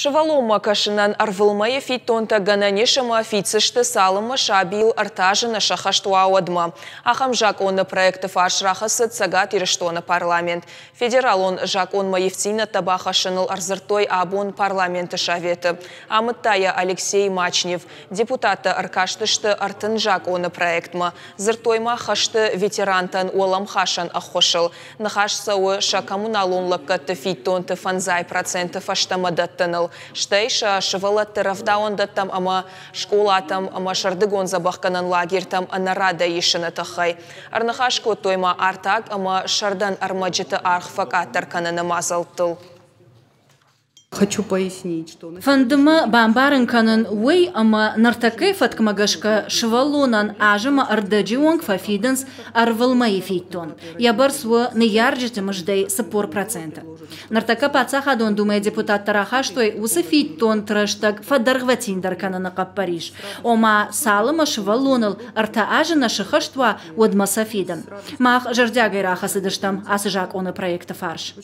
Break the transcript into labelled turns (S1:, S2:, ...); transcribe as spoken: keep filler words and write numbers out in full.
S1: Сывӕллонмӕ кӕсынӕн ӕрвылмӕйы фиддонтӕ гӕнӕн ис ӕмӕ фиддзысты, цалынмӕ сабийыл ӕртӕ азы нӕ сӕххӕст уа, уӕдмӕ. Ахӕм закъоны проекты фарс рахӕцыд Цӕгат Ирыстоны парламент. Федералон закъонмӕ ивддзинӕдтӕ бахӕссыныл ӕрдзырдтой абон парламенты советы. Амыдта йӕ Алексей Мачнев. Депутаттӕ ӕркастысты ӕртын закъоны проектмӕ. Дзырдтой ма хӕсты ветерантӕн уӕлӕмхасӕн ӕххуысыл. Ныхас цӕуы сӕ коммуналон лӕггӕдты фиддонты фӕндзай проценты фӕстӕмӕ дӕттыныл, стӕй сӕ сывӕллӕтты рӕвдауӕндӕттӕм ӕмӕ скъолатӕм ӕмӕ сӕрдыгон дзӕбӕхгӕнӕн лагертӕм ӕнӕрадӕй исыны тыххӕй. Ӕрныхас кодтой ма артаг ӕмӕ сӕрдӕн ӕрмӕджыты аргъ фӕкъаддӕр кӕныны мадзӕлттыл.
S2: Хочу пояснить, что
S3: Фӕнды мӕ бамбарын кӕнын уый, ӕмӕ ныртӕккӕйы фӕткмӕ гӕсгӕ сывӕллонӕн аз ӕмӕ ӕрдӕджы онг фӕфидынц ӕрвылмӕйы фиддон. Йӕ бӕрц у ныййарджыты мыздӕй цыппор проценты. Ныртӕккӕ Паддзахадон Думӕйы депутаттӕ рахастой уыцы фиддонты рӕстӕг фӕдӕргъвӕтиндӕр кӕныны хъӕппӕрис. Ома, цалынмӕ сывӕллоныл ӕртӕ азы нӕ сыххӕст уа, уӕдмӕ сӕ фидын. Мах зӕрдиагӕй рахӕцыдыстӕм ацы закъоны проекты фарс.